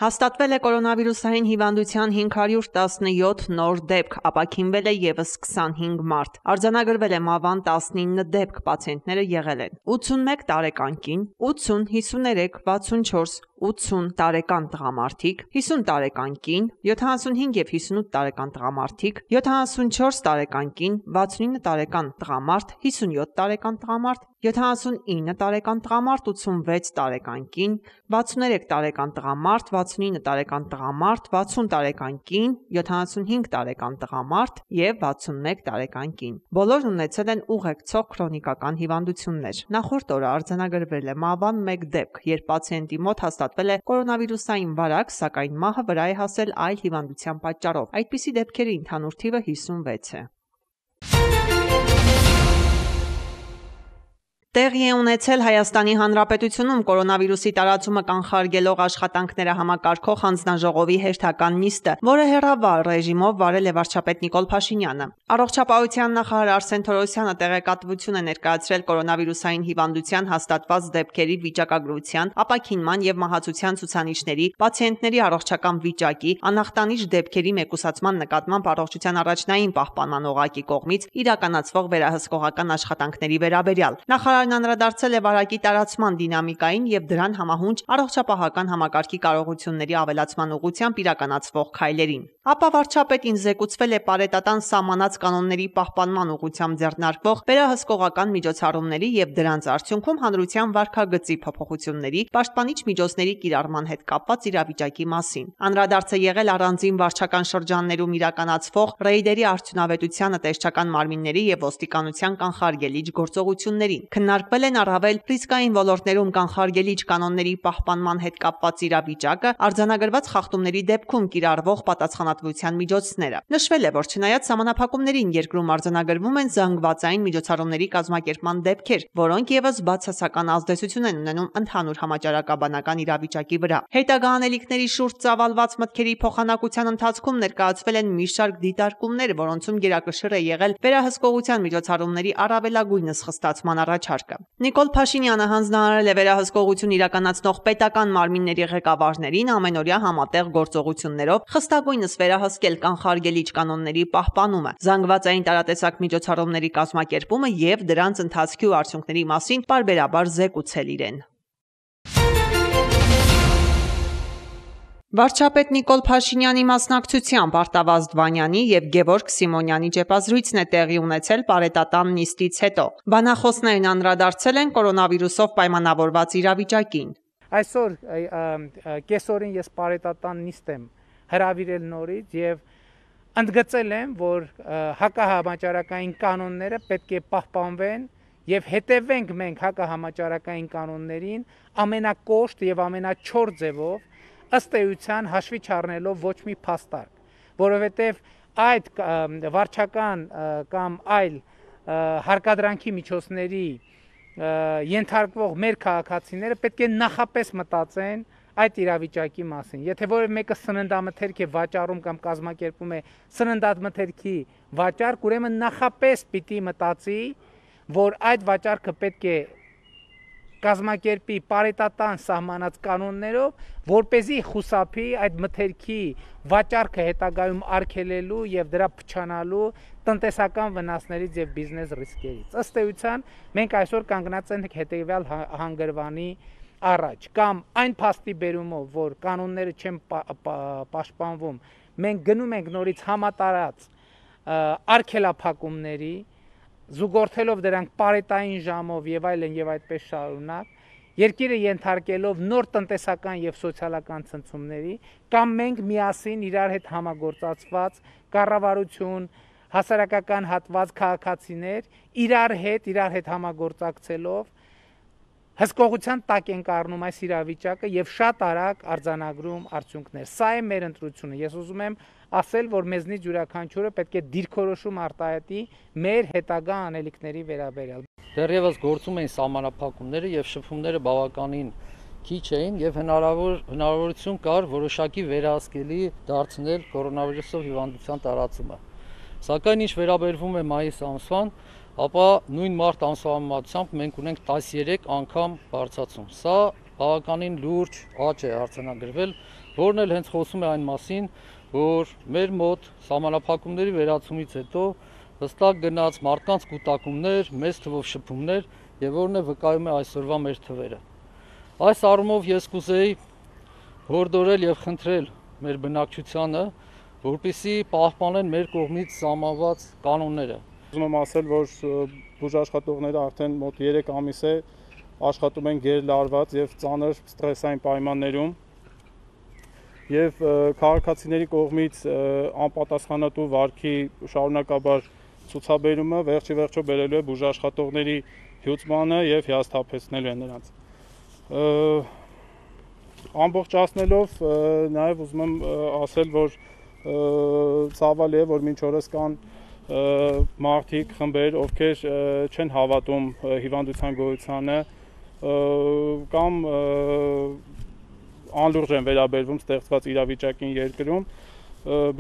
Հաստատվել է կորոնավիրուսային հիվանդության 517 նոր դեպք, ապաքինվել է ևս 25 մարդ։ Արձանագրվել է մահվան 19 դեպք, պացիենտները եղել են 81 տարեկան կին, 80, 53, 64, 80 տարեկան տղամարդիկ, 50 տարեկան կին, 75 և 58 տարեկան տղամարդիկ, 74 տարեկան կին, 69 տարեկան տղամարդ, 57 տարեկան տղամարդ, 79 տարեկան տղամարդ, 86 տարեկան կին, 63 տարեկան տղամարդ, 69 տարեկան տղամարդ, 60 տարեկան կին, 75 տարեկան տղամարդ և 61 տարեկան կին։ Բոլորն ունեցել են ուղեկցող քրոնիկական հիվանդություններ։ Նախորդ օրը արձանագրվել է մահվան 1 դեպք, երբ պացիենտի մոտ հաստատվել է կորոնավիրուսային վարակ, սակայն մահը վրա է հասել այլ հիվանդության պատճառով։ Այդպիսի դեպքերի ընդհանուր թիվը 56 է։ Տեղի է ունեցել Հայաստանի Հանրապետությունում կորոնավիրուսի տարածումը կանխարգելող աշխատանքները համակարգող հանձնաժողովի հերթական նիստը, որը հեռավար ռեժիմով վարել է վարչապետ Նիկոլ Փաշինյանը։ Առողջապահության նախարար Արսեն Թորոսյանը տեղեկատվություն է ներկայացրել կորոնավիրուսային հիվանդության հաստատված դեպքերի վիճակագրության, ապաքինման և մահացության ցուցանիշների, պացիենտների առողջական վիճակի, անախտանիշ դեպքերի մեկուսացման նկատմամբ առողջության առաջնային պահպանման օղակի կողմից իրականացվող վերահսկողական աշխատանքների վերաբերյալ։ Նախարարն անդրադարձել է վարակի տարածման դինամիկային և դրան համահունչ առողջապահական համակարգի կարողությունների ավելացման ուղղությամբ իրականացվող քայլերին։ Ապա վարչապետին զեկուցվել է պարետատան սահմանած կանոնների պահպանման ուղղությամբ ձեռնարկվող վերահսկողական միջոցառումների և դրանց արդյունքում հանրության վարքագծի փոփոխությունների, պաշտպանիչ միջոցների կիրառման հետ կապված իրավիճակի մասին։ Անդրադարձ է եղել առանձին վարչական շրջաններում իրականացվող ռեյդերի արդյունավետությանը, տեսչական մարմինների և ոստիկանության կանխարգելիչ գործողություններին։ Քննարկվել են առավել ռիսկային ոլորտներում կանխարգելիչ կանոնների պահպանման հետ կապված իրավիճակը, արձանագրված խախտումների դեպքում կիրառվող պատասխանատվության միջոցները։ Նշվել է, որ չնայած սահմանափակումներին երկրում արձանագրվում են զանգվածային միջոցառումների կազմակերպման դեպքեր, որոնք ևս բացասական ազդեցություն են ունենում ընդհանուր համաճարակաբանական իրավիճակի վրա։ Հետագա անելիքների շուրջ ծավալված մտքերի փոխանակության ընթացքում ներկայացվել են մի շարք դիտարկումներ, որոնցում գերակշիռ է եղել վերահսկողության միջոցառումների առավելագույնս խստացման առաջարկը։ Նիկոլ Փաշինյանը հանձնարարել է վերահսկողություն իրականացնող պետական մարմինների ղեկավարներին ամենօրյա համատեղ գործողություններով խստագույնս վերահսկել կանխարգելիչ կանոնների պահպանումը, զանգվածային տարատեսակ միջոցառումների կազմակերպումը և դրանց ընթացքի ու արդյունքների մասին պարբերաբար զեկուցել իրեն։ Վարչապետ Նիկոլ Փաշինյանի մասնակցությամբ Արտավազդ Վանյանի և Գևորգ Սիմոնյանի ճեպազրույցն է տեղի ունեցել պարետատան նիստից հետո։ Բանախոսներն անդրադարձել են կորոնավիրուսով պայմանավորված իրավիճակին։ Այսօր կեսօրին ես պարետատան նիստ եմ հրավիրել նորից և ընդգծել եմ, որ հակահամաճարակային կանոնները պետք է պահպանվեն և հետևենք մենք հակահամաճարակային կանոններին ամենակոշտ և ամենաչոր ձևով, ըստ էության հաշվի չառնելով ոչ մի փաստարկ, որովհետև այդ վարչական կամ այլ հարկադրանքի միջոցների ենթարկվող մեր քաղաքացիները պետք է նախապես մտածեն այդ իրավիճակի մասին։ Եթե որևէ մեկը սննդամթերք է վաճառում կամ կազմակերպում է սննդամթերքի վաճառք, ուրեմն նախապես պիտի մտածի, որ այդ վաճառքը պետք է կազմակերպի պարետատան սահմանած կանոններով, որպեսզի խուսափի այդ մթերքի վաճառքը հետագայում արգելելու և դրա փչանալու տնտեսական վնասներից և բիզնես ռիսկերից։ Ըստ էության մենք այսօր կանգնած ենք հետևյալ հանգրվանի առաջ, կամ այն փաստի բերումով, որ կանոնները չեն պաշտպանվում, մենք գնում ենք նորից համատարած արգելափակումների, զուգորդելով դրանք պարետային ժամով և այլն և այդպես շարունակ, երկիրը ենթարկելով նոր տնտեսական և սոցիալական ցնցումների, կամ մենք միասին իրար հետ համագործակցված կառավարություն, հասարակական հատված, քաղաքացիներ իրար հետ համագործակցելով հսկողության տակ ենք առնում այս իրավիճակը և շատ արագ արձանագրում արդյունքներ։ Սա է մեր ընտրությունը։ Ես ուզում եմ ասել, որ մեզնից յուրաքանչյուրը պետք է դիրքորոշում արտահայտի մեր հետագա անելիքների վերաբերյալ։ Դեռևս գործում էին սահմանափակումները և շփումները բավականին քիչ էին և հնարավորություն կար որոշակի վերահսկելի դարձնել կորոնավիրուսով հիվանդության տարածումը։ Սակայն ինչ վերաբերվում է մայիս ամսվան, ապա նույն մարտ ամսվա համեմատությամբ մենք ունենք 13 անգամ բարձրացում։ Սա բավականին լուրջ աճ է արձանագրվել որն էլ հենց խոսում է այն մասին, որ մեր մոտ սահմանափակումների վերացումից հետո հստակ գնաց մարդկանց կուտակումներ, մեծ թվով շփումներ եւ որն է վկայում է այսօրվա մեր թվերը։ Այս առումով ես կուզեի հորդորել եւ խնդրել մեր բնակչությանը, որպեսզի պահպանեն մեր կողմից սահմանված կանոնները։ Ուզում եմ ասել, որ բուժաշխատողները արդեն մոտ 3 ամիս է աշխատում են գերլարված եւ ծանր ստրեսային պայմաններում եւ քաղաքացիների կողմից անպատասխանատու վարքի շարունակաբար ցուցաբերումը վերջի վերջո բերելու է բուժաշխատողների հյուծմանը եւ հիասթափեցնելու է նրանց։ Ամբողջացնելով նաեւ ուզում եմ ասել, որ ցավալի է, որ մինչ օրս կան մարդիկ, խմբեր, ովքեր չեն հավատում հիվանդության գոյությանը կամ անլուրջ են վերաբերվում ստեղծված իրավիճակին երկրում,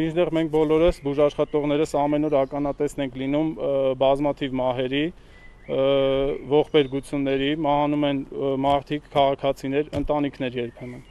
մինչդեռ մենք բոլորս բուժաշխատողներս ամեն օր ականատեսն ենք լինում բազմաթիվ մահերի, ողբերգությունների, մահանում են մարդիկ, քաղաքացիներ, ընտանիքներ երբեմն։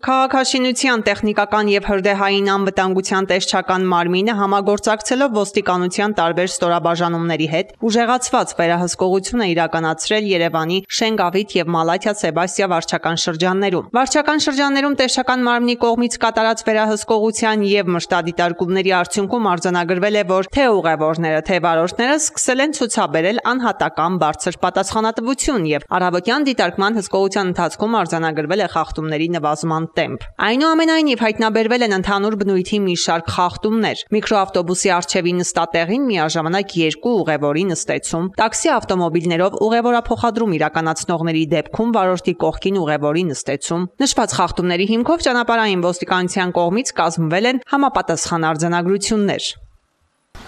Քաղաքաշինության տեխնիկական եւ հրդեհային անվտանգության տեսչական մարմինը համագործակցելով ոստիկանության տարբեր ստորաբաժանումների հետ ուժեղացված վերահսկողություն է իրականացրել Երևանի Շենգավիթ եւ Մալաթիա Սեբաստիա վարչական շրջաններում։ Վարչական շրջաններում տեսչական մարմնի կողմից կատարած վերահսկողության եւ մշտադիտարկումների արդյունքում արձանագրվել է, որ թե ուղևորները, թե վարորդները սկսել են ցուցաբերել անհատական բարձր պատասխանատվություն եւ առավոտյան դիտարկման հսկողության ընթացքում արձանագրվել է խախտումների նվազման տեմպ։ Այնուամենայնիվ հայտնաբերվել են ընդհանուր բնույթի մի շարք խախտումներ։ Միկրոավտոբուսի առջևի նստատեղին միաժամանակ 2 ուղևորի նստեցում, տաքսի ավտոմոբիլներով ուղևորափոխադրում իրականացնողների դեպքում վարորդի կողքին ուղևորի նստեցում։ Նշված խախտումների հիմքով ճանապարհային ոստիկանության կողմից կազմվել են համապատասխան արձանագրություններ։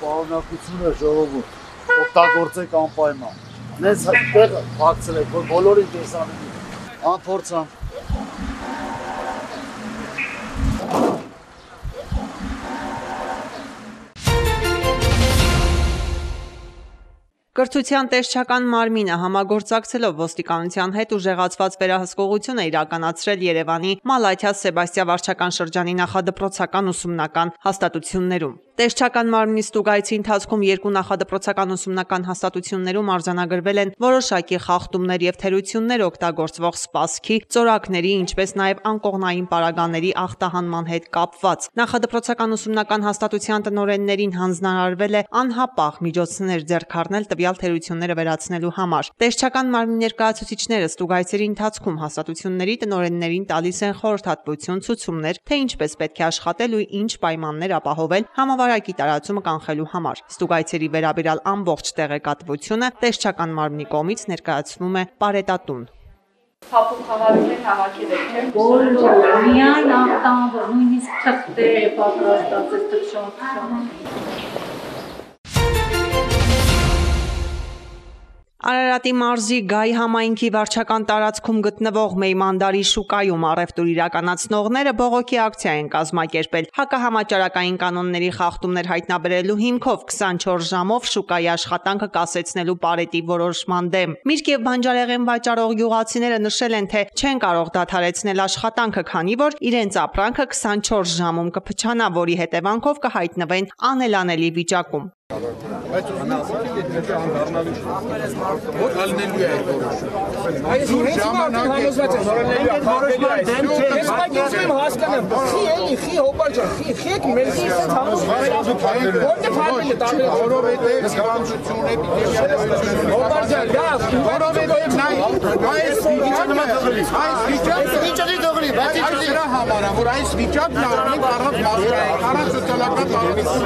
Պարունակությունը ժողովուրդ, օգտագործեք անպայման։ Նենց տեղ փակցրեք, որ բոլորին տեսանելի։ Անփորձան Կրթության տեսչական մարմինը համագործակցելով ոստիկանության հետ ուժեղացված վերահսկողություն է իրականացրել Երևանի Մալաթիա Սեբաստիա վարչական շրջանի նախադպրոցական ուսումնական հաստատություններում։ Տեսչական մարմնի ստուգայցի ընթացքում 2 նախադպրոցական ուսումնական հաստատություններում արձանագրվել են որոշակի խախտումներ եւ թերություններ օգտագործվող սպասքի, ծորակների, ինչպես նաեւ անկողնային պարագաների ախտահանման հետ կապված։ Նախադպրոցական ուսումնական հաստատության տնօրեններին հանձնարարվել է անհապաղ միջոցներ ձեռք առնել տվյալ թերությունները վերացնելու համար։ Տեսչական մարմնի ներկայացուցիչները ստուգայցերի ընթացքում հաստատությունների տնօրեններին տալիս են խորհրդատվություն, ցուցումներ, թե ինչպես պետք է աշխատել ու ինչ պայմաններ ապահովել համավարակի տարածումը կանխելու համար։ Ստուգայցերի վերաբերյալ ամբողջ տեղեկատվությունը տեսչական մարմնի կողմից ներկայացվում է պարետատուն։ Հապուկ խաղարներ հավաքել եք, բոլոր միայն ախտանվող, նույնիսկ թղթեր պատրաստած է թշնամական։ Արարատի մարզի Գայ համայնքի վարչական տարածքում գտնվող Մեյմանդարի շուկայում առևտուր իրականացնողները բողոքի ակցիա են կազմակերպել։ Հակահամաճարակային կանոնների խախտումներ հայտնաբերելու հիմքով 24 ժամով շուկայի աշխատանքը կասեցնելու պարետի որոշման դեմ։ Միրգ եւ բանջարեղեն վաճառող գյուղացիները նշել են, թե չեն կարող դադարեցնել աշխատանքը, քանի որ իրենց ապրանքը 24 ժամում կփչանա, որի հետևանքով կհայտնվեն անելանելի վիճակում։ Բայց ուզում եմ որ ալնելու է այդ որոշումը։ Այս ժամանակ եմ հասկանամ, խի էլի, խի հոպարջան, խի եք մեր սիստ համոզվարել, որտե փարվել է տարբեր, որովհետև զգամշություն էպիդեմիա հոպարջան, լավ, որովհետև այս վիճակը դրա համար է, որ այս վիճակն առնենք առանց մասկայի, առանց սոցիալական տարածություն։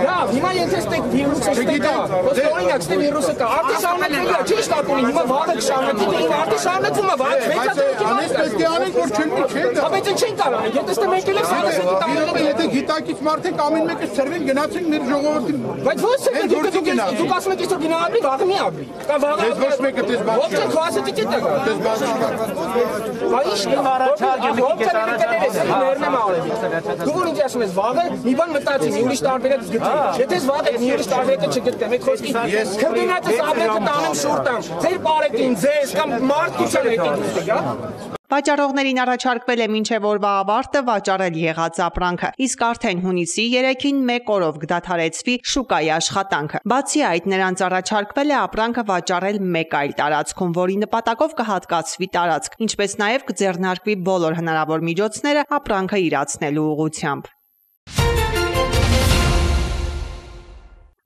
լավ, հիմա եթե ստեք վիրուսը ստեկա, օրինակ ստե վիրուսը կա, արդի շարունակվելիա, չի շտապունի, հիմա վաղը կշարունակի, հիմա արդի շարունակվում է, վաղը պետք է անենք, որ չենք։ Բայց չեն կարող, եթե ստե մենք էլ ենք սարսետի տանելը, եթե գիտակից մարդիկ ամեն մեկը ծրվեն գնացին մեր ժողովրդին։ Բայց ո՞ց է, դուք ասում եք այսօր գնա ապրի, վաղը մի ապրի։ Կամ վաղը ոչ մեկը դες բան։ Ո՞ց է քասետի չտա։ Դες բան։ Բայց ո՞ց է ներնեմ արևի։ Դու որ ինձ ասում ես վաղը, մի բան մտածի, մի ուրիշ տարբերակ գտնի։ Եթե վաղը Ես տարեկը չգտնեմ, այդ խոսքի քրտնացս աբեկը տանեմ շուրտան, ձեր բարեկին, ձեզ կամ մարդկության եկեք։ Վաճառողներին առաջարկվել է մինչև օրվա ավարտը վաճառել եղած ապրանքը, իսկ արդեն հունիսի 3-ին 1 օրով կդադարեցվի շուկայի աշխատանքը։ Բացի այդ, նրանց առաջարկվել է ապրանքը վաճառել մեկ այլ տարածքում, որի նպատակով կհատկացվի տարածք, ինչպես նաև կձեռնարկվի բոլոր հնարավոր միջոցները ապրանքը իրացնելու ուղղությամբ։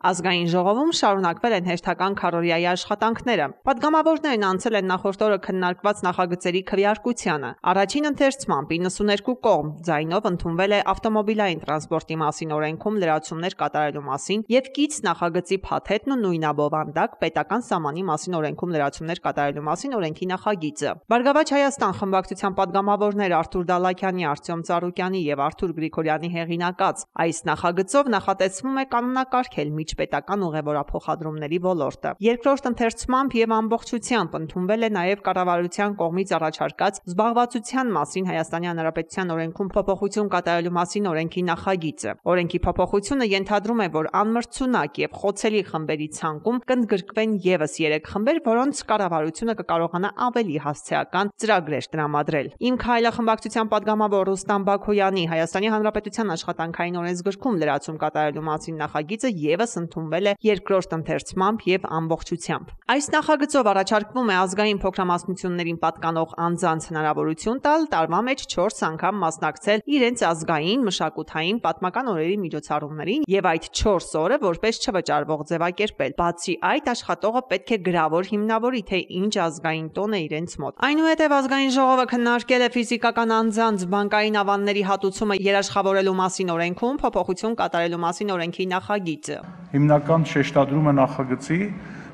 Ազգային ժողովում շարունակվել են հերթական քառօրյայի աշխատանքները։ Պատգամավորներն անցել են նախորդ օրը քննարկված նախագծերի քվեարկությանը։ Առաջին ընթերցմամբ 92 կողմ ձայնով ընդունվել է ավտոմոբիլային տրանսպորտի մասին օրենքում լրացումներ կատարելու մասին եւ կից նախագծի փաթեթն ու նույնաբովանդակ պետական սահմանի մասին օրենքում լրացումներ կատարելու մասին օրենքի նախագիծը։ Բարգավաճ Հայաստան խմբակցության պատգամավորներ Արթուր Դալաքյանի, Արտյոմ Ծառուկյանի եւ Արթուր Գրիգորյանի հեղինակած այս նախագծով նախատեսվում է կանոնակարգել պետական ուղևորափոխադրումների ոլորտը։ Երկրորդ ընթերցմամբ եւ ամբողջությամբ ընդունվել է նաեւ կառավարության կողմից առաջարկած զբաղվածության մասին Հայաստանի Հանրապետության օրենքում փոփոխություն կատարելու մասին օրենքի նախագիծը։ Օրենքի փոփոխությունը ենթադրում է, որ անմրցունակ եւ խոցելի խմբերի ցանկում կընդգրկվեն եւս 3 խմբեր, որոնց կառավարությունը կկարողանա ավելի հասցեական ծրագրեր տրամադրել։ Իմ քայլը խմբակցության պատգամավոր Ռուստամ Բաքոյանի Հայաստանի Հանրապետության աշխատանքային օրենսգրքում լրացում կատարելու մասին նախագիծը եւս ընդունվել է երկրորդ ընթերցմամբ եւ ամբողջությամբ։ Այս նախագծով առաջարկվում է ազգային փոքրամասնություններին պատկանող անձանց հնարավորություն տալ տարվա մեջ 4 անգամ մասնակցել իրենց ազգային, մշակութային, պատմական օրերի միջոցառումներին եւ այդ 4 օրը որպես չվճարվող ձևակերպել։ Բացի այդ, աշխատողը պետք է գրավոր հիմնավորի, թե ինչ ազգային տոն է իրենց մոտ։ Այնուհետև ազգային ժողովը քննարկել է ֆիզիկական անձանց բանկային ավանների հատուցումը երաշխավորելու մասին օրենքում փոփոխություն կատարելու մասին օրենքի նախագիծը։ Հիմնական շեշտադրումը նախագծի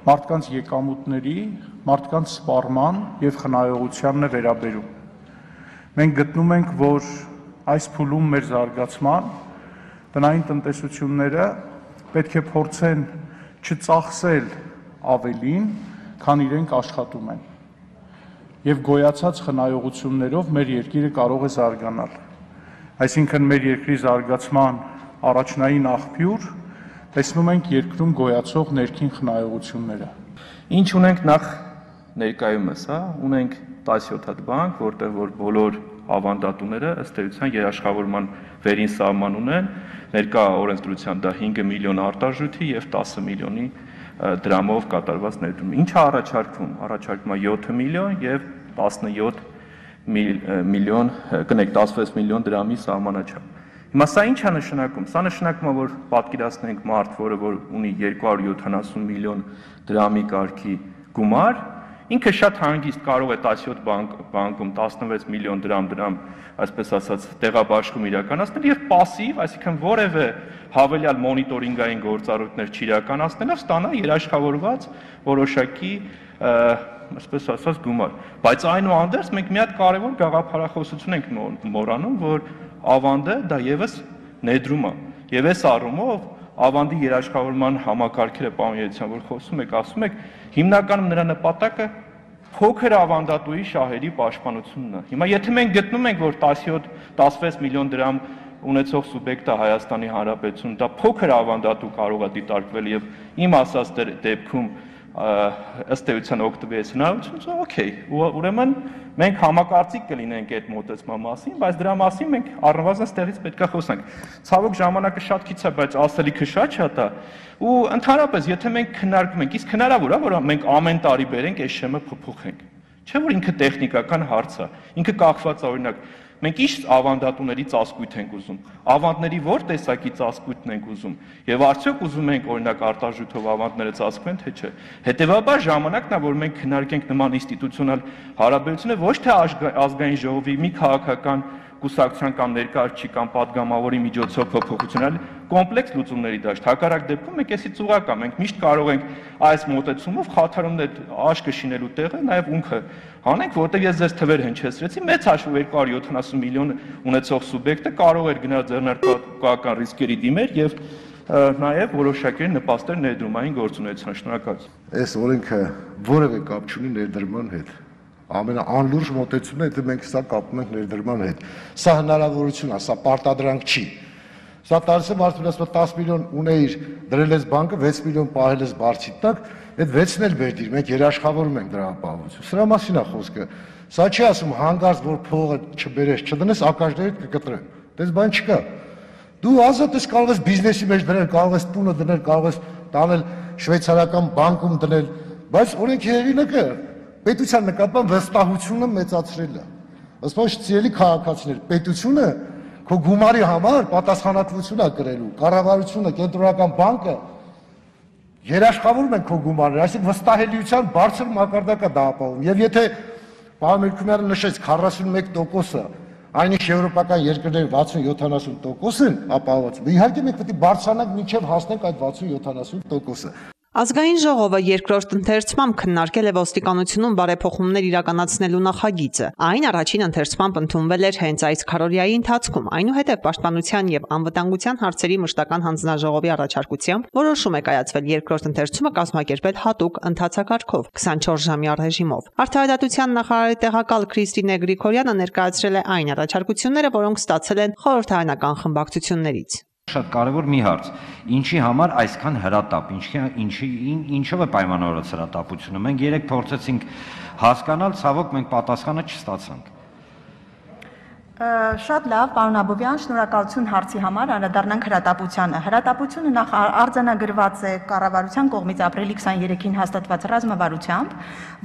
մարդկանց եկամուտների, մարդկանց սպառման եւ խնայողությանն է վերաբերում։ Մենք գտնում ենք, որ այս փուլում մեր զարգացման տնային տնտեսությունները պետք է փորձեն չծախսել ավելին, քան իրենք աշխատում են։ Եվ գոյացած խնայողություններով մեր երկիրը կարող է զարգանալ։ Այսինքն մեր երկրի զարգացման առաջնային աղբյուր տեսնում ենք երկրում գոյացող ներքին խնայողությունները։ Ինչ ունենք նախ ներկայումս, ունենք 17 հատ բանկ, որտեղ որ բոլոր ավանդատուները ըստ էության երաշխավորման վերին սահման ունեն, ներկա օրենսդրության դա 5 միլիոն արտարժույթի եւ 10 միլիոնի դրամով կատարված ներդրում։ Ինչա առաջարկվում։ Առաջարկվում է 7 միլիոն եւ 17 միլիոն, կնեք 16 միլիոն դրամի սահմանաչափ։ Հիմա սա ինչ է նշանակում։ Սա նշանակում է, որ պատկերացնենք մարդ, որը որ ունի 270 միլիոն դրամի կարգի գումար, ինքը շատ հանգիստ կարող է 17 բանկում 16 միլիոն դրամ, այսպես ասած, տեղաբաշխում իրականացնել եւ пассив, այսինքն որևէ հավելյալ մոնիտորինգային գործառույթներ չիրականացնելով ստանա երաշխավորված որոշակի այսպես ասած գումար։ Բայց այնուհանդերձ մենք մի հատ կարևոր գաղափարախոսություն ենք մոռանում, որ ավանդը դա եւս ներդրում է։ Եվ այս առումով ավանդի երաշխավորման համակարգերը պարոն որ խոսում եք, ասում եք, հիմնականում նրա նպատակը փոքր ավանդատուի շահերի պաշտպանությունն է։ Հիմա եթե մենք գտնում ենք, որ 17-16 միլիոն դրամ ունեցող սուբյեկտը Հայաստանի Հանրապետություն դա փոքր ավանդատու կարող է դիտարկվել եւ իմ ասած դեպքում ըստ էության օգտվի այս հնարավորությունից, օքեյ, ուրեմն մենք համակարծիք կլինենք այդ մոտեցման մասին, բայց դրա մասին մենք առնվազն ստեղից պետքա խոսանք։ Ցավոք ժամանակը շատ քիչ է, բայց ասելիքը շատ է, ու ընդհանրապես եթե մենք քննարկում ենք, իսկ հնարավոր է, որ մենք ամեն տարի բերենք այս շեմը փոփոխենք։ Չէ՞ որ ինքը տեխնիկական հարց է, ինքը կախված է օրինակ մենք ինչ ավանդատուների ծածկույթ ենք ուզում, ավանդների որ տեսակի ծածկույթն ենք ուզում, եւ արդյոք ուզում ենք օրինակ արտարժույթով ավանդները ծածկվեն, թե չէ։ Հետեւաբար ժամանակն է, որ մենք քննարկենք նման ինստիտուցիոնալ հարաբերությունները ոչ թե ազգային ժողովի մի քաղաքական կուսակցության կամ ներկայացուցիչ կամ падգամավորի միջոցով փոփոխություն, այլ կոմպլեքս լուծումների դաշտ։ Հակառակ դեպքում մենք էսի ծուղակ է, մենք միշտ կարող ենք այս մոտեցումով խաթարումներ աշկը շինելու տեղը նաև ունքը հանենք, որտեղ ես ձեզ թվեր հնչեցրեցի, մեծ հաշվով 270 միլիոն ունեցող սուբյեկտը կարող էր գնալ ձեռնարկողական ռիսկերի դիմեր եւ նաև որոշակի նպաստեր ներդրումային գործունեության։ Շնորհակալություն։ Այս օրենքը որևէ կապ չունի ներդրման հետ։ Ամենաանլուրջ մոտեցումն է, եթե մենք սա կապում ենք ներդրման հետ։ Սա հնարավորություն է, սա պարտադրանք չի։ Սա տալիս է մարդուն, ասում 10 միլիոն ունեիր, դրել ես բանկը, 6 միլիոն պահել ես բարձի տակ, այդ 6-ն էլ բերդիր, մենք երաշխավորում ենք դրա ապահովությունը։ Սրա մասին է խոսքը։ Սա չի ասում հանգարց, որ փողը չբերես, չդնես, ակաժներից կկտրեն։ Դες բան չկա։ Դու ազատ ես կարող ես բիզնեսի մեջ դնել, կարող ես տունը դնել, կարող ես տանել շվեյցարական բանկում դնել, բայց օրենքի հեղինակը պետության նկատմամբ վստահությունը մեծացրել է։ Ըստ ո՞նց ցելի քաղաքացիներ, պետությունը քո գումարի համար պատասխանատվություն է կրելու, կառավարությունը, կենտրոնական բանկը երաշխավորում են քո գումարները, այսինքն վստահելիության բարձր մակարդակ է դա ապահովում։ Եվ եթե պարոն Մելքումյանը նշեց 41%-ը, այնինչ եվրոպական երկրների 60-70% են ապահոված, իհարկե մենք պետք է բարձրանանք մինչև հասնենք այդ 60-70%-ը։ Ազգային ժողովը երկրորդ ընթերցմամբ քննարկել է ոստիկանությունում բարեփոխումներ իրականացնելու նախագիծը։ Այն առաջին ընթերցմամբ ընդունվել էր հենց այս քարոզիայի ընթացքում, այնուհետև Պաշտպանության եւ անվտանգության հարցերի մշտական հանձնաժողովի առաջարկությամբ որոշում է կայացվել երկրորդ ընթերցումը կազմակերպել հատուկ ընթացակարգով 24-ժամյա ռեժիմով։ Արդարադատության նախարարի տեղակալ Քրիստինե Գրիգորյանը ներկայացրել է այն առաջարկությունները, որոնք ստացել են խորհրդարանական խմբակցություններից։ Շատ կարևոր մի հարց, ինչի համար այսքան հրատապ, ինչով է պայմանավորված հրատապությունը, մենք երեք փորձեցինք հասկանալ, ցավոք մենք պատասխանը չստացանք։ Շատ լավ, պարոն Աբովյան, շնորհակալություն հարցի համար, անդրադառնանք հրատապությանը։ Հրատապությունը նախ արձանագրված է կառավարության կողմից ապրիլի 23-ին հաստատված ռազմավարությամբ,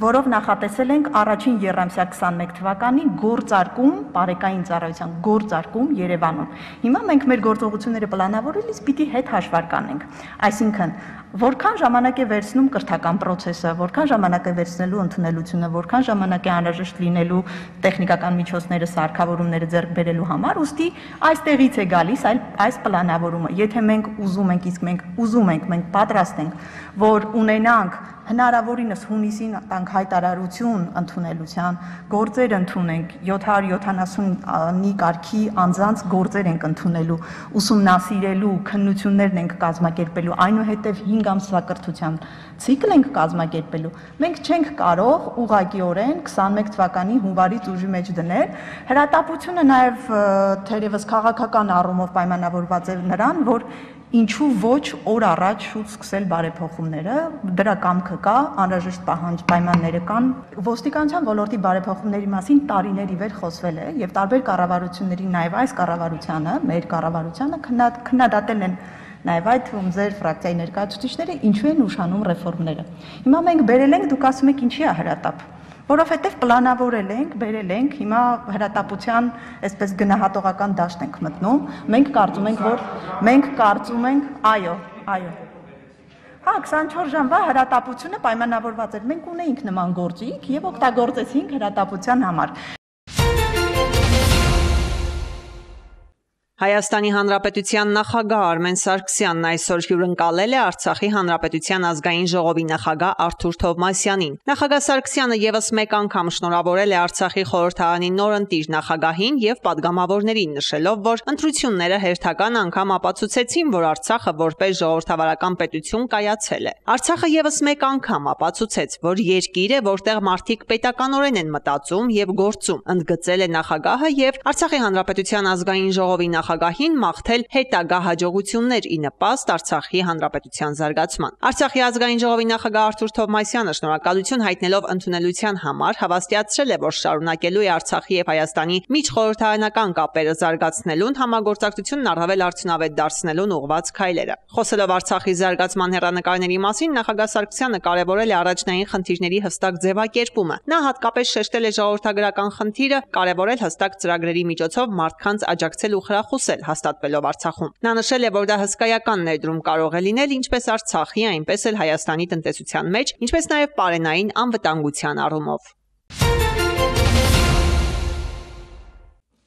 որով նախատեսել ենք առաջին եռամսյա 21 թվականի գործարկում, բարեկային ծառայության գործարկում Երևանում։ Հիմա մենք մեր գործողությունները պլանավորելիս պիտի հետ հաշվար կանենք, այսինքն որքան ժամանակ է վերցնում կրթական process-ը, որքան ժամանակ է վերցնելու ընդունելությունը, որքան ժամանակ է անհրաժեշտ լինելու տեխնիկական միջոցները, սարքավորումները ձեռք բերելու համար, ուստի այստեղից է գալիս այս պլանավորումը։ Եթե մենք ուզում ենք, իսկ մենք ուզում ենք, մենք պատրաստ ենք, որ ունենանք հնարավորինս հունիսին տանք հայտարարություն ընդունելության, գործեր ընդունենք, 770-ի կարգի անձանց գործեր ենք ընդունելու, ուսումնասիրելու, քննություններն ենք կազմակերպելու, այնուհետև 5 ամսվա կրթության ցիկլ ենք կազմակերպելու։ Մենք չենք կարող ուղղակիորեն 21 թվականի հունվարից ուժի մեջ դնել։ Հրատապությունը նաև թերևս քաղաքական առումով պայմանավորված է նրան, որ ինչու ոչ օր առաջ շուտ սկսել բարեփոխումները, դրա կամքը կա, անհրաժեշտ պայմանները կան։ Ոստիկանության ոլորտի բարեփոխումների մասին տարիներ ի վեր խոսվել է եւ տարբեր կառավարությունների, նաեւ այս կառավարությանը, մեր կառավարությանը քննադատել են նաեւ այդ թվում ձեր ֆրակցիայի ներկայացուցիչները ինչու են ուշանում ռեֆորմները։ Հիմա մենք բերել ենք, դուք ասում եք ինչի է հրատապ, որովհետեւ պլանավորել ենք, բերել ենք, հիմա հրատապության այսպես գնահատողական դաշտ ենք մտնում, մենք կարծում ենք, այո։ Հա, 24 ժամվա հրատապությունը պայմանավորված էր, մենք ունեինք նման գործիք եւ օգտագործեցինք հրատապության համար։ Հայաստանի Հանրապետության նախագահ Արմեն Սարգսյանն այսօր հյուրընկալել է Արցախի Հանրապետության ազգային ժողովի նախագահ Արթուր Թովմասյանին։ Նախագահ Սարգսյանը եւս մեկ անգամ շնորհավորել է Արցախի խորհրդարանի նորընտիր նախագահին եւ падգամավորներին, նշելով, որ ընտրությունները հերթական անգամ ապացուցեցին, որ Արցախը որպես ժողովրդավարական պետություն կայացել է։ Արցախը եւս մեկ անգամ ապացուցեց, որ երկիր է, որտեղ մարդիկ պետականորեն են մտածում եւ գործում, ընդգծել է նախագահը եւ Արցախի Հանրապետության ազգային ժողովի նախագահին մաղթել հետագա հաջողություններ ի նպաստ Արցախի Հանրապետության զարգացման։ Արցախի ազգային ժողովի նախագահ Արթուր Թովմասյանը շնորհակալություն հայտնելով ընդունելության համար հավաստիացրել է, որ շարունակելու է Արցախի եւ Հայաստանի միջխորհրդարանական կապերը զարգացնելուն, համագործակցությունն առավել արդյունավետ դարձնելուն ուղղված քայլերը։ Խոսելով Արցախի զարգացման հեռանկարների մասին, նախագահ Սարգսյանը կարևորել է առաջնային խնդիրների հստակ ձևակերպումը։ Նա հատկապես շեշտել է ժողովրդագրական խնդիրը, կարևորել հստակ ծրագրերի միջոցով մարդկանց աջակցել ու խրախուսել հաստատվելով Արցախում։ Նա նշել է, որ դա հսկայական ներդրում կարող է լինել ինչպես Արցախի, այնպես էլ Հայաստանի տնտեսության մեջ, ինչպես նաև պարենային անվտանգության առումով։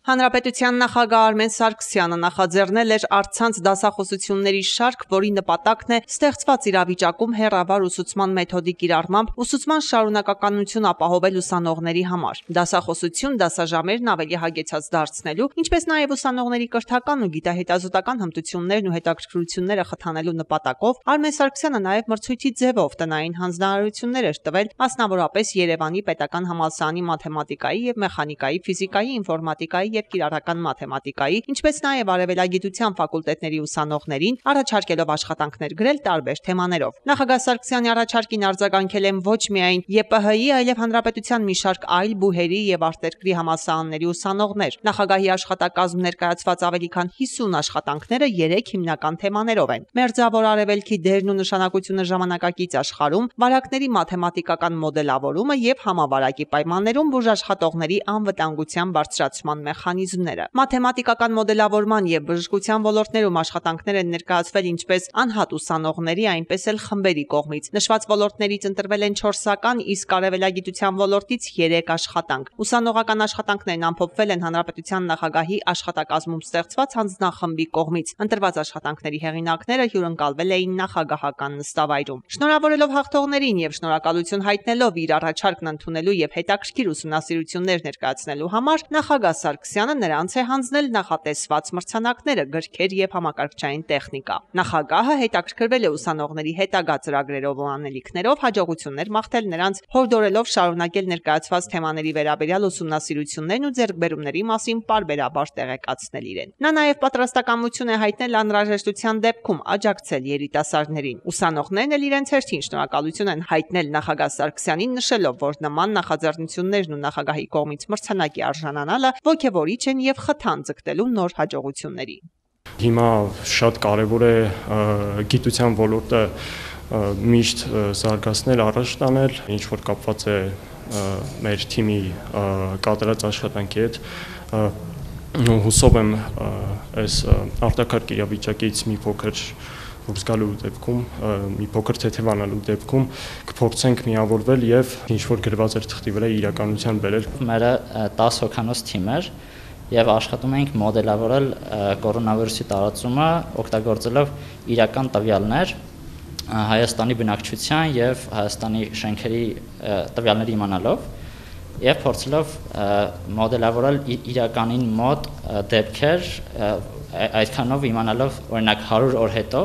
Հանրապետության նախագահ Արմեն Սարգսյանը նախաձեռնել էր առցանց դասախոսությունների շարք, որի նպատակն է ստեղծված իրավիճակում հեռավար ուսուցման մեթոդի կիրառմամբ ուսուցման շարունակականություն ապահովել ուսանողների համար։ Դասախոսություն դասաժամերն ավելի հագեցած դարձնելու, ինչպես նաև ուսանողների կրթական ու գիտահետազոտական հմտություններն ու հետաքրքրությունները խթանելու նպատակով Արմեն Սարգսյանը նաև մրցույթի ձևով տնային հանձնարարություններ էր տվել, մասնավորապես Երևանի պետական համալսարանի մաթեմատիկայի եւ մեխանիկայի, ֆիզիկայի, ինֆորմատիկայի եւ կիրառական մաթեմատիկայի, ինչպես նաեւ արևելագիտության ֆակուլտետների ուսանողներին, առաջարկելով աշխատանքներ գրել տարբեր թեմաներով։ Նախագահ Սարգսյանի առաջարկին արձագանքել են ոչ միայն ԵՊՀ-ի, այլև հանրապետության մի շարք այլ բուհերի եւ արտերկրի համալսարանների ուսանողներ։ Նախագահի աշխատակազմում ներկայացված ավելի քան 50 աշխատանքները 3 հիմնական թեմաներով են։ Մերձավոր Արևելքի դերն ու նշանակությունը ժամանակակից աշխարհում, վարակների մաթեմատիկական մոդելավորումը եւ համավարակի պայմաններում բուժաշխատողների անվտանգության բարձրացման մեխանիզմները։ Մաթեմատիկական մոդելավորման եւ բժշկության ոլորտներում աշխատանքներ են ներկայացվել ինչպես անհատ ուսանողների, այնպես էլ խմբերի կողմից։ Նշված ոլորտներից ընտրվել են 4-ական, իսկ արևելագիտության ոլորտից 3 աշխատանք։ Ուսանողական աշխատանքներն ամփոփվել են հանրապետության նախագահի աշխատակազմում ստեղծված հանձնախմբի կողմից։ Ընտրված աշխատանքների հեղինակները հյուրընկալվել էին նախագահական նստավայրում։ Շնորհավորելով հաղթողներին եւ շնորհակալություն հայտնելով իր առաջարկն ընդունելու եւ հետաքրքիր ուսումնասիրություններ ներկայացնելու համար, նախագահ Սարգսյանը նրանց է հանձնել նախատեսված մրցանակները, գրքեր եւ համակարգչային տեխնիկա։ Նախագահը հետաքրքրվել է ուսանողների հետագա ծրագրերով ու անելիքներով, հաջողություններ մաղթել նրանց, հորդորելով շարունակել ներկայացված թեմաների վերաբերյալ ուսումնասիրություններն ու ձեռքբերումների մասին պարբերաբար տեղեկացնել իրեն։ Նա նաև պատրաստակամություն է հայտնել անհրաժեշտության դեպքում աջակցել երիտասարդներին։ Ուսանողներն էլ իրենց հերթին շնորհակալություն են հայտնել նախագահ Սարգսյանին, նշելով, որ նման նախաձեռնություններն ու նախագահի կողմից մրցանակի արժանանալը ոգևորիչ են եւ խթան ձգտելու նոր հաջողությունների։ Հիմա շատ կարևոր է գիտության ոլորտը միշտ զարգացնել, առաջ տանել, ինչ որ կապված է մեր թիմի կատարած աշխատանքի հետ։ Հուսով եմ այս արտակարգ իրավիճակից մի փոքր դուրս գալու դեպքում, մի փոքր թեթևանալու դեպքում կփորձենք միավորվել եւ ինչ որ գրված էր թղթի վրա իրականության բերել։ Մերը 10 հոգանոց թիմ էր եւ աշխատում էինք մոդելավորել կորոնավիրուսի տարածումը, օգտագործելով իրական տվյալներ Հայաստանի բնակչության եւ Հայաստանի շենքերի տվյալներ իմանալով եւ փորձելով մոդելավորել իրականին մոտ դեպքեր, այդքանով իմանալով օրինակ 100 օր հետո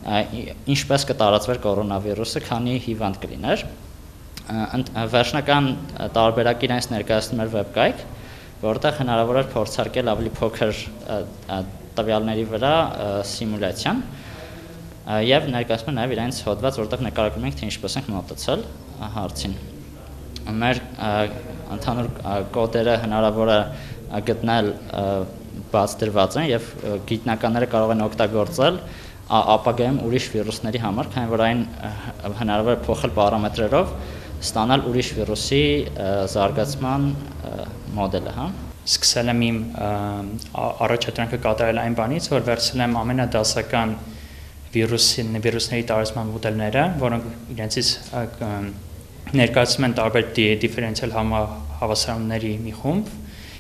ինչպես կտարածվեր կորոնավիրուսը, քանի հիվանդ կլիներ։ Վերջնական տարբերակը իրենց ներկայացնում էր վեբկայք, որտեղ հնարավոր էր փորձարկել ավելի փոքր տվյալների վրա սիմուլյացիան եւ ներկայացնում նաեւ իրենց հոդված, որտեղ նկարագրում ենք թե ինչպես ենք մոտեցել հարցին։ Մեր ընդհանուր կոդերը հնարավոր է գտնել բաց դրված են եւ գիտնականները կարող են օգտագործել ապագայում ուրիշ վիրուսների համար, քանի որ այն հնարավոր է փոխել պարամետրերով ստանալ ուրիշ վիրուսի զարգացման մոդելը, հա։ Սկսել եմ իմ առաջադրանքը կատարել այն բանից, որ վերցրել եմ ամենադասական վիրուսների տարածման մոդելները, որոնք իրենցից ներկայացում են տարբեր դիֆերենցիալ հավասարումների մի խումբ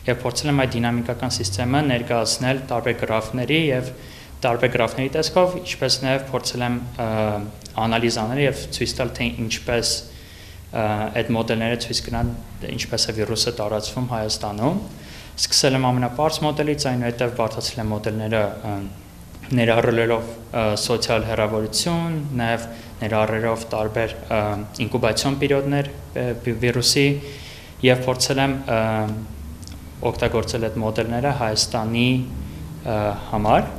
եւ փորձել եմ այդ դինամիկական համակարգը ներկայացնել տարբեր գրաֆների եւ տարբեր գրաֆների տեսքով, ինչպես նաեւ փորձել եմ անալիզ անել եւ ցույց տալ թե ինչպես այդ մոդելները ցույց կտան ինչպես է վիրուսը տարածվում Հայաստանում։ Սկսել եմ ամենապարզ մոդելից, այնուհետև բարդացրել եմ մոդելները ներառելով սոցիալ հեռավորություն, նաև ներառելով տարբեր ինկուբացիոն պերիոդներ վիրուսի եւ փորձել եմ օգտագործել այդ մոդելները Հայաստանի համար։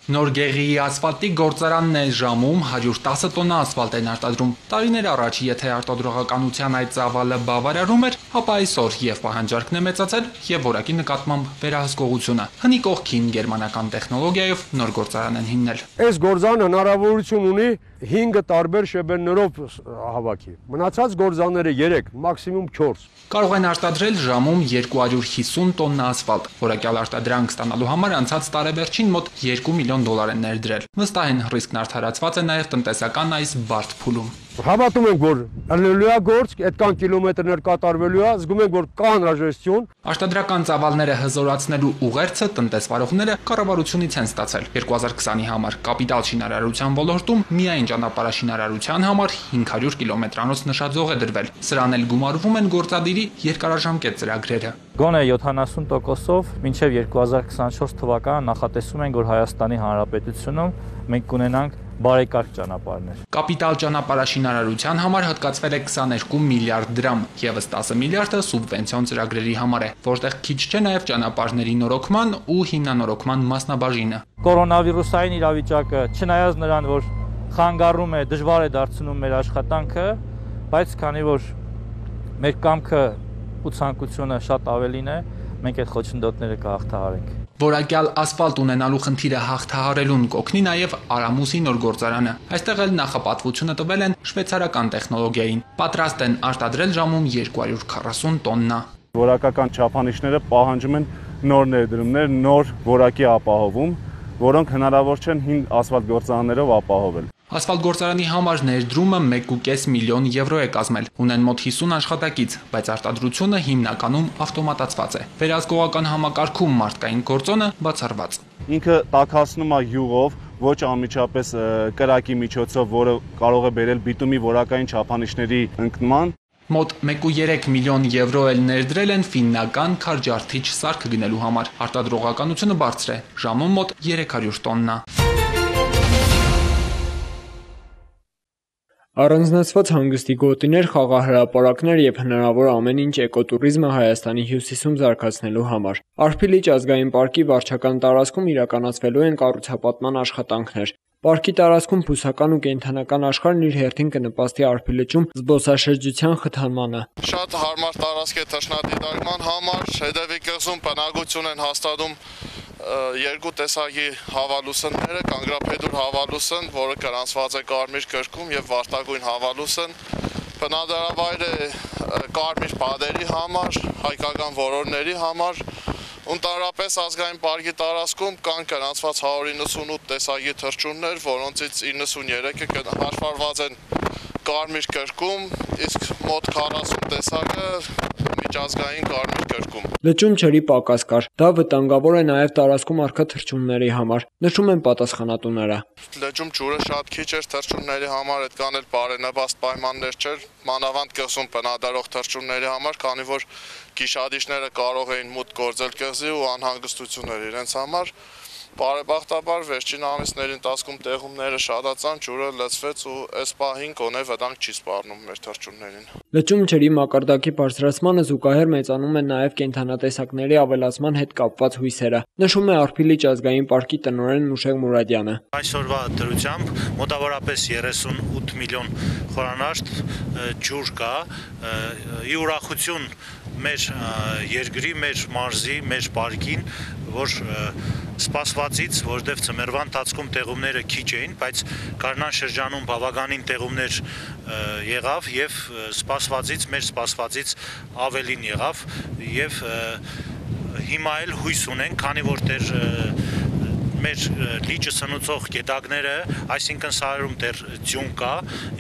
Նոր Գեղիի ասֆալտի գործարանն է ժամում 110 տոննա ասֆալտ են արտադրում։ Տարիներ առաջ, եթե արտադրողականության այդ ծավալը բավարարում էր, ապա այսօր եւ պահանջարկն է մեծացել եւ որակի նկատմամբ վերահսկողությունը։ Հնի կողքին գերմանական տեխնոլոգիայով նոր գործարան են հիմնել։ Այս գործարանը հնարավորություն ունի 5 տարբեր շեբերներով հավաքի։ Մնացած գործարանները 3, մաքսիմում 4։ Կարող են արտադրել ժամում 250 տոննա ասֆալտ։ Որակյալ արտադրանք ստանալու համար անցած տարեվերջին մոտ 2 միլիոն դոլար են ներդրել։ Վստահ են, ռիսկն արդարացված է նաև տնտեսական այս բարդ փուլում։ Հավատում ենք, որ ելնելու է գործ, այդքան կիլոմետրներ կատարվելու է, զգում ենք, որ կա անհրաժեշտություն։ Արտադրական ծավալները հզորացնելու ուղերձը տնտեսվարողները կառավարությունից են ստացել 2020-ի համար կապիտալ շինարարության ոլորտում միայն ճանապարհաշինարարության համար 500 կիլոմետրանոց նշաձող է դրվել։ Սրան էլ գումարվում են գործադիրի երկարաժամկետ ծրագրերը։ Գոնե 70%-ով մինչև 2024 թվականը նախատեսում ենք, որ Հայաստանի Հանրապետությունում մենք կունենանք բարեկարգ ճանապարհներ։ Կապիտալ ճանապարհաշինարարության համար հատկացվել է 22 միլիարդ դրամ, եւս 10 միլիարդը սուբվենցիոն ծրագրերի համար է, որտեղ քիչ չէ նաեւ ճանապարհների նորոգման ու հիմնանորոգման մասնաբաժինը։ Կորոնավիրուսային իրավիճակը, չնայած նրան, որ խանգարում է, դժվար է դարձնում մեր աշխատանքը, բայց քանի որ մեր կամքը ու ցանկությունը շատ ավելին է, մենք այդ խոչընդոտները կհաղթահարենք։ Որակյալ ասֆալտ ունենալու խնդիրը հաղթահարելուն կօգնի նաև Արամուսի նոր գործարանը։ Այստեղ էլ նախապատվությունը տվել են շվեյցարական տեխնոլոգիային։ Պատրաստ են արտադրել ժամում 240 տոննա։ Որակական չափանիշները պահանջում են նոր ներդրումներ, նոր որակի ապահովում, որոնք հնարավոր չեն հին ասֆալտ գործարաններով ապահովել։ Ասֆալտ գործարանի համար ներդրումը 1.5 միլիոն եվրո է կազմել։ Ունեն մոտ 50 աշխատակից, բայց արտադրությունը հիմնականում ավտոմատացված է։ Վերահսկողական համակարգում մարդկային գործոնը բացառված։ Ինքը տաքացնում է յուղով, ոչ անմիջապես կրակի միջոցով, որը կարող է բերել բիտումի որակային չափանիշների ընկնման։ Մոտ 1.3 միլիոն եվրո էլ ներդրել են ֆիննական քարջարդիչ սարք գնելու համար։ Արտադրողականությունը բարձր է, ժամում մոտ 300 տոննա։ Առանձնացված հանգստի գոտիներ, խաղահրապարակներ եւ հնարավոր ամեն ինչ էկոտուրիզմը Հայաստանի հյուսիսում զարգացնելու համար։ Արփիլիճ ազգային պարկի վարչական տարածքում իրականացվելու են կառուցապատման աշխատանքներ։ Պարկի տարածքում բուսական ու կենդանական աշխարհն իր հերթին կնպաստի Արփիլիճում զբոսաշրջության խթանմանը։ Շատ հարմար տարածք է թռչնադիտարկման համար, հետևի կղզում բնակություն են հաստատում երկու տեսակի հավալուսնները, կանգրափեդուր հավալուսն, որը գրանցված է Կարմիր գրքում, եւ վարտագույն հավալուսն։ Բնադրավայր է կարմիր բադերի համար, հայկական որորների համար։ Ընդհանրապես ազգային պարկի տարածքում կան գրանցված 198 տեսակի թռչուններ, որոնցից 93-ը հաշվառված են Կարմիր գրքում, իսկ մոտ 40 տեսակը միջազգային Կարմիր գրքում։ Լճում ջրի պակաս կար։ Դա վտանգավոր է նաև տարածքում առկա թռչունների համար, նշում են պատասխանատուները։ Լճում ջուրը շատ քիչ էր թռչունների համար, այդքան էլ բարենպաստ պայմաններ չէր, մանավանդ կղզում բնադրող թռչունների համար, քանի որ գիշադիչները կարող էին մուտք գործել կղզի ու անհանգստություններ իրենց համար։ Բարեբախտաբար վերջին ամիսների ընթացքում տեղումները շատացան, ջուրը լցվեց ու այս պահին գոնե վտանգ չի սպառնում մեր թռչուններին։ Լճում ջրի մակարդակի բարձրացմանը զուգահեռ մեծանում են նաև կենդանատեսակների ավելացման հետ կապված հույսերը, նշում է Արփիլիճ ազգային պարկի տնօրեն Մուշեղ Մուրադյանը։ Այսօրվա դրությամբ մոտավորապես 38 միլիոն խորանարդ ջուր կա, ի ուրախություն մեր երկրի, մեր մարզի, մեր պարկին, որ սպասվածից, որտեղ ծմերվա ընթացքում տեղումները քիչ էին, բայց գարնան շրջանում բավականին տեղումներ եղավ եւ սպասվածից, մեր սպասվածից ավելին եղավ եւ հիմա էլ հույս ունենք, քանի որ դեռ մեր լիճը սնուցող գետակները, այսինքն սարերում դեռ ձյուն կա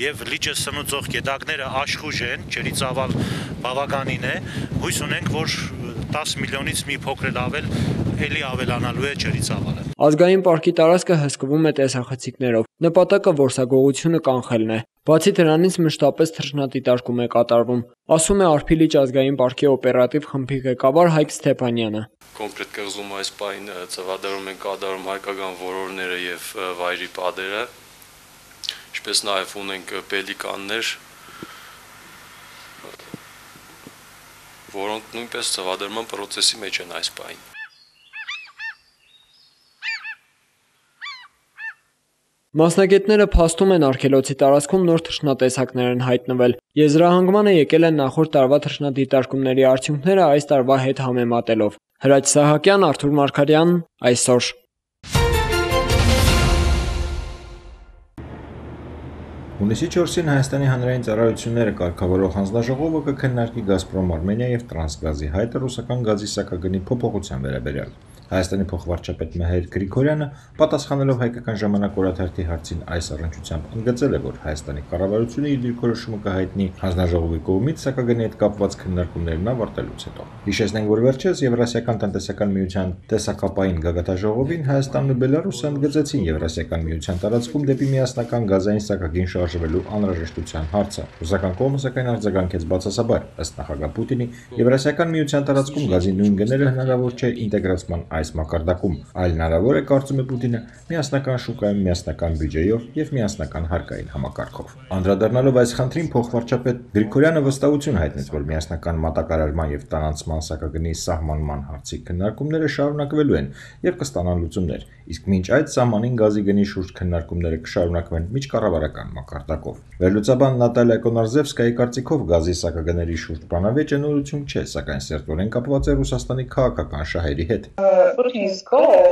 եւ լիճը սնուցող գետակները աշխուժ են, ջրի ծավալ բավականին է, հույս ունենք, որ 10 միլիոնից մի փոքր ավել էլի ավելանալու է ջրի ծավալը։ Ազգային պարկի տարածքը հսկվում է տեսախցիկներով։ Նպատակը որսագողությունը կանխելն է։ Բացի դրանից մշտապես թռչնադիտարկում է կատարվում, ասում է Արփիլիճ ազգային պարկի օպերատիվ խմբի ղեկավար Հայկ Ստեփանյանը։ Կոնկրետ կղզում այս պահին ծավալներում են կատարում հայկական որորները եւ վայրի падերը, ինչպես նաեւ ունենք պելիկաններ, որոնք նույնպես ծավալման process-ի մեջ են այս պահին։ Մասնագետները փաստում են արգելոցի տարածքում նոր թռչնատեսակներ են հայտնվել։ Եզրահանգմանը եկել են նախորդ տարվա թռչնադիտարկումների արդյունքները այս տարվա հետ համեմատելով։ Հրաչ Սահակյան, Արթուր Մարգարյան, այսօր։ Հունիսի 4-ին Հայաստանի հանրային ծառայությունները կարգավորող հանձնաժողովը կքննարկի Գազպրոմ Արմենիա եւ Տրանսգազի հայտը ռուսական գազի սակագնի փոփոխության վերաբերյալ։ Հայաստանի փոխվարչապետ Մհեր Գրիգորյանը պատասխանելով հայկական ժամանակ օրաթերթի հարցին այս առնչությամբ ընդգծել է, որ Հայաստանի կառավարությունը իր դիրքորոշումը կհայտնի հանձնաժողովի կողմից սակագնի հետ կապված քննարկումներն ավարտելուց հետո։ Հիշեցնենք, որ վերջերս Եվրասիական տնտեսական միության տեսակապային գագաթաժողովին Հայաստանն ու Բելարուսը ընդգծեցին Եվրասիական միության տարածքում դեպի միասնական գազային սակագին շարժվելու անհրաժեշտության հարցը։ Ռուսական կողմը սակայն արձագանքեց բացասաբար, ըստ նախագահ Պուտինի, Եվրասիական միության տարածքում գազի նույն գները հնարավոր չէ ինտեգրացման այս մակարդակում։ Այլ հնարավոր է, կարծում է Պուտինը, միասնական շուկայում միասնական բյուջեով եւ միասնական հարկային համակարգով։ Անդրադառնալով այս խնդրին, փոխվարչապետ Գրիգորյանը վստահություն հայտնեց, որ միասնական մատակարարման եւ տարանցման սահմագնի սահմանման հարցի քննարկումները շարունակվելու են եւ կստանան լուծումներ, իսկ մինչ այդ սահմանին գազի գնի շուրջ քննարկումները կշարունակվեն միջկառավարական մակարդակով։ Վերլուծաբան Նատալիա Կոնարզևսկայի կարծիքով գազի սահմագների շուրջ բանավեճը նորություն չէ, սակայն սերտորեն կապված է Ռուսաստանի քաղաքական շահերի հետ։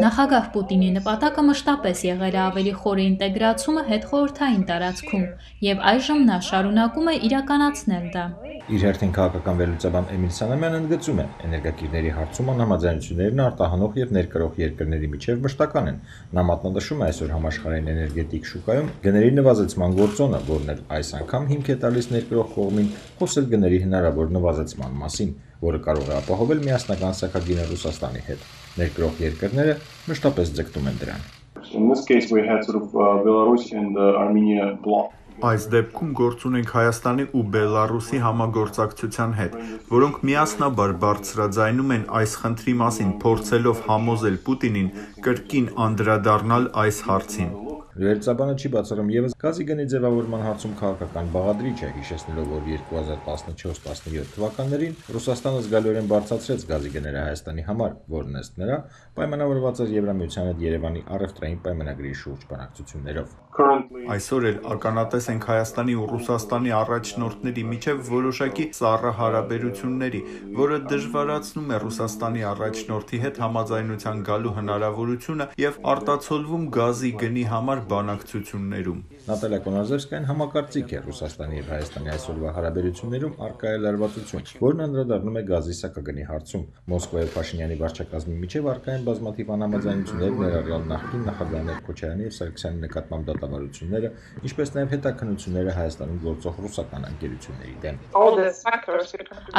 Նախագահ Պուտինի նպատակը մշտապես եղել է ավելի խորը ինտեգրացումը հետխորհրդային տարածքում եւ այժմ նա շարունակում է իրականացնել դա։ Իր հերթին քաղաքական վերլուծաբան Էմիլ Սանամյանը ընդգծում է, էներգակիրների հարցում անհամաձայնություններն արտահանող եւ ներկրող երկրների միջև մշտական են։ Նա մատնանշում է այսօր համաշխարհային էներգետիկ շուկայում գների նվազեցման գործոնը, որն էլ այս անգամ հիմք է տալիս ներկրող կողմին խոսել գների հնարավոր նվազեցման մասին, որը կարող է ապահովել միասնական սահմագինը Ռուսաստանի հետ։ Ներկրող երկրները մշտապես ձգտում են դրան։ In this case we had sort of Belarus and Armenia block. Այս դեպքում գործ ունենք Հայաստանի ու Բելարուսի համագործակցության հետ, որոնք միասնաբար բարձրաձայնում են այս խնդրի մասին, փորձելով համոզել Պուտինին կրկին անդրադառնալ այս հարցին։ Վերլուծաբանը չի բացառում եւս գազի գնի ձևավորման հարցում քաղաքական բաղադրիչ է, հիշեցնելով, որ 2014-17 թվականներին Ռուսաստանը զգալիորեն բարձրացրեց գազի գները Հայաստանի համար, որն ըստ նրա պայմանավորված էր Եվրամիության հետ Երևանի առևտրային պայմանագրի շուրջ բանակցություններով։ Այսօր էլ ականատես ենք Հայաստանի ու Ռուսաստանի առաջնորդների միջև որոշակի սառը հարաբերությունների, որը դժվարացնում է Ռուսաստանի առաջնորդի հետ համաձայնության գալու հնարավորությունը եւ արտացոլվում գազի գնի համար բանակցություններում։ Նատալիա Կոնարզևսկային համակարծիք է Ռուսաստանի եւ Հայաստանի այսօրվա հարաբերություններում առկա է լարվածություն, որն անդրադառնում է գազի սահմագնի հարցում։ Մոսկվայի Փաշինյանի վարչակազմի միջև առկա են բազմաթիվ անհամաձայնություններ, ներառյալ նախկին նախագահներ Քոչարյանի եւ Սարգսյանի նկատմամբ դատավարությունները, ինչպես նաեւ հետաքննությունները Հայաստանում գործող ռուսական ընկերությունների դեմ։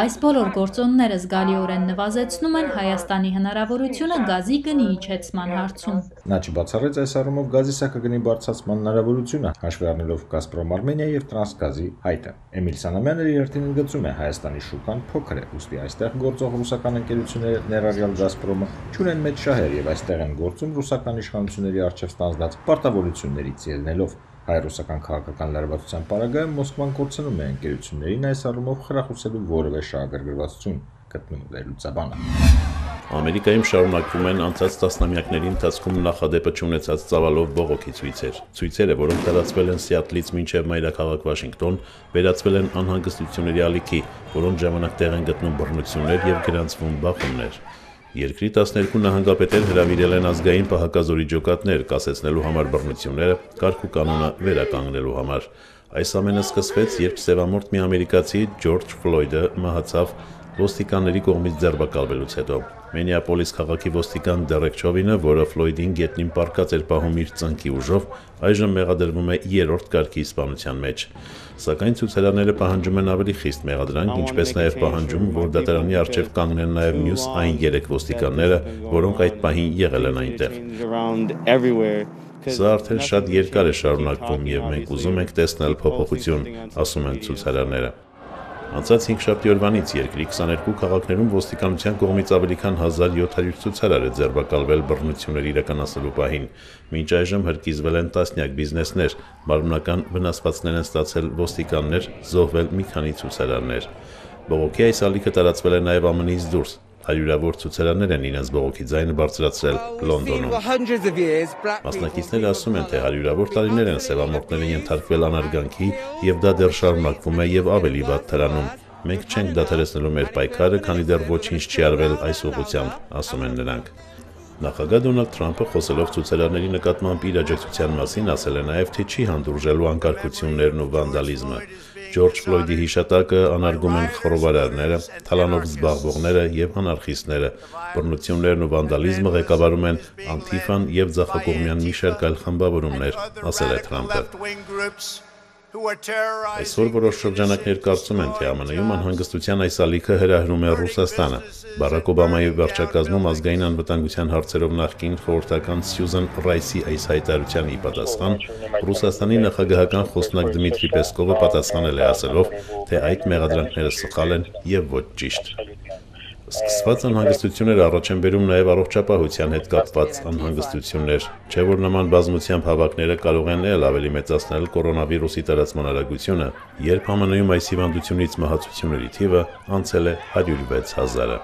Այս բոլոր գործոնները զգալիորեն նվազեցնում են Հայաստանի հնարավորությունը գազի գնի իջեցման հարցում։ Նա չբացառեց այս առումով գազի սահմագնի բարձրացման հնարավորությունը, հաշվի առնելով Գազպրոմ Արմենիա եւ Տրանսգազի հայտը։ Էմիլ Սանամյանը երթին ընդգծում է Հայաստանի շուկան փոքր է, ուստի այստեղ գործող ռուսական ընկերությունները, ներառյալ Գազպրոմը, չունեն մեծ շահեր եւ այստեղ են գործում ռուսական իշխանությունների առջեւ ստանձնած պարտավորություններից ելնելով։ Հայ-ռուսական քաղաքական լարվածության պարագայում Մոսկվան կորցնում է ընկերություններին այս առումով խրախուսելու որևէ շահագրգռվածություն, գտնում վերլուծաբանը։ Ամերիկայում շարունակվում են անցած տասնամյակների ընթացքում նախադեպը չունեցած ծավալով բողոքի ցույցեր։ Ցույցերը, որոնք տարածվել են Սիաթլից մինչև մայրաքաղաք Վաշինգտոն, վերածվել են անհանգստությունների ալիքի, որոնց ժամանակ տեղ են գտնում բռնություններ եւ գրանցվում բախումներ։ Երկրի 12 նահանգապետեր հրավիրել են ազգային պահակազորի ջոկատներ, կասեցնելու համար բռնությունները, կարգ ու կանոնը վերականգնելու համար։ Այս ամենը սկսվեց, երբ սևամորթ մի ամերիկացի Ջորջ Ֆլոյդը մահացավ ոստիկանների կողմից ձերբակալվելուց հետո։ Մինեապոլիս քաղաքի ոստիկան Դերեկ Չովինը, որը Ֆլոյդին գետնին պառկած էր պահում իր ծնկի ուժով, այժմ մեղադրվում է 3-րդ կարգի սպանության մեջ։ Սակայն ցուցարարները պահանջում են ավելի խիստ մեղադրանք, ինչպես նաև պահանջում, որ դատարանի առջև կանգնեն նաև մյուս այն 3 ոստիկանները, որոնք այդ պահին եղել են այնտեղ։ Սա արդեն շատ երկար է շարունակվում եւ մենք ուզում ենք տեսնել փոփոխություն, ասում են ցուցարարները։ Անցած 5 շաբթի օրվանից երկրի 22 քաղաքներում ոստիկանության կողմից ավելի քան 1700 ցուցարար է ձերբակալվել բռնություններ իրականացնելու պահին։ Մինչ այժմ հրկիզվել են տասնյակ բիզնեսներ, մարմնական վնասվածքներ են ստացել ոստիկաններ, զոհվել մի քանի ցուցարարներ։ Բողոքի այս ալիքը տարածվել է նաև ԱՄՆ-ից դուրս։ Հարյուրավոր ցուցարարներ են իրենց բողոքի ձայնը բարձրացրել Լոնդոնում։ Մասնակիցները ասում են, թե հարյուրավոր տարիներ են սևամորթները ենթարկվել անարգանքի եւ դա դեռ շարունակվում է եւ ավելի վատ թրանում։ Մենք չենք դադարեցնելու մեր պայքարը, քանի դեռ ոչինչ չի արվել այս ուղղությամբ, ասում են նրանք։ Նախագահ Դոնալդ Թրամփը խոսելով ցուցարարների նկատմամբ իր աջակցության մասին ասել է նաև, թե չի հանդուրժելու անկարգություններն ու վանդալիզմը։ Ջորջ Ֆլոյդի հիշատակը անարգում են խռովարարները, թալանով զբաղվողները եւ անարխիստները։ Բռնություններն ու վանդալիզմը ղեկավարում են Անտիֆան եւ ձախակողմյան մի շարք այլ խմբավորումներ, ասել է Թրամփը։ Այսօր որոշ շրջանակներ կարծում են, թե ԱՄՆ-ում անհանգստության այս ալիքը հրահրում է Ռուսաստանը։ Բարակ Օբամայի վարչակազմում ազգային անվտանգության հարցերով նախկին խորհրդական Սյուզան Ռայսի այս հայտարարության ի պատասխան Ռուսաստանի նախագահական խոսնակ Դմիտրի Պեսկովը պատասխանել է ասելով, թե այդ մեղադրանքները սխալ են եւ ոչ ճիշտ։ Սկսված անհանգստությունները առաջ են բերում նաև առողջապահության հետ կապված անհանգստություններ, չէ՞ որ նման բազմությամբ հավաքները կարող են ել ավելի մեծացնել կորոնավիրուսի տարածման արագությունը, երբ ԱՄՆ-ում այս հիվանդությունից մահացությունների թիվը անցել է 106,000-ը։